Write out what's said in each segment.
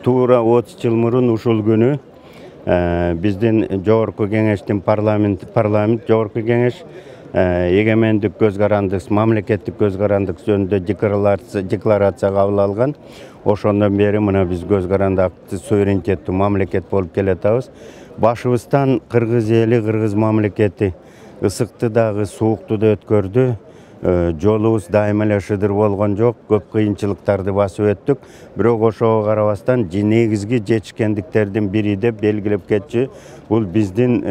Туура 30 жыл мурун ушул күнү биздин жогорку кеңештин парламент жогорку кеңеш эгемендик көз карандык, мамлекеттик көз карандык жөнүндө декларация кабыл алган. Ошондон бери мына биз көз карандыктуу суверенитеттүү мамлекет болуп келатабыз. Башыбыздан кыргыз эли, кыргыз мамлекети ысыкты дагы, суукту да өткөрдү. Жолубуз дайыма эле шыдыр болгон жок, көп кыйынчылыктарды басып өттүк. Бирок ошого карабастан негизги жетишкендиктердин бири деп белгилеп кетчү. Бул биздин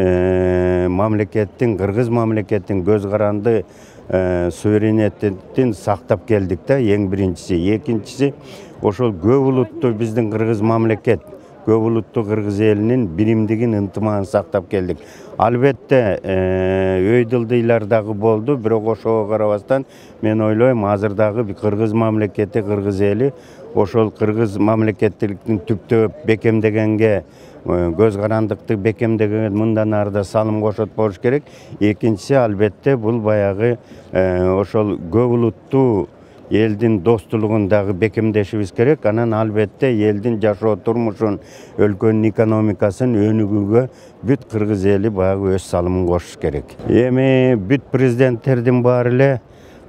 мамлекеттин, кыргыз мамлекеттин көз каранды суверенитетин сактап келдик да, эң биринчиси. Экинчиси, ошол көп улуттуу биздин кыргыз мамлекет, көп улуттуу кыргыз элинин биримдигин, ынтымагын сактап келдик. Албетте, өйдылдыйлар дагы болду, бирок ошого карабастан мен ойлойм, азыр дагы кыргыз мамлекети, кыргыз эли ошол кыргыз мамлекеттиликтин түптөп бекемдегенге, көз карандыкты бекемдегенге мындан ары да салым кошот болуш керек. Экинчиси, албетте, бул баягы ошол көп улуттуу элдин достуулугун дагы бекемдешибиз керек. Анан албетте элдин жашоо турмушун, өлкөнүн экономикасын өнүгүүгө бүт кыргыз эли баягы өз салымын кошуш керек. Эми бүт президенттердин баары эле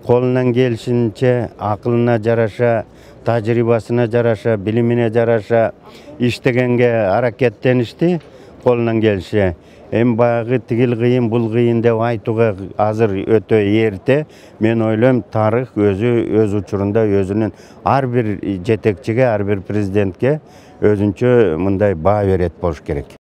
колунан келишинче, акылына жараша, тажрыйбасына жараша, билимине жараша иштегенге аракеттеништи, колунан келиши. Эми баягы тигил кыйын, бул кыйын деп айтууга азыр өтө эрте. Мен ойлойм, тарых өз учурунда өзүнүн ар бир жетекчиге, ар бир президентке өзүнчө мындай баа берет болуш керек.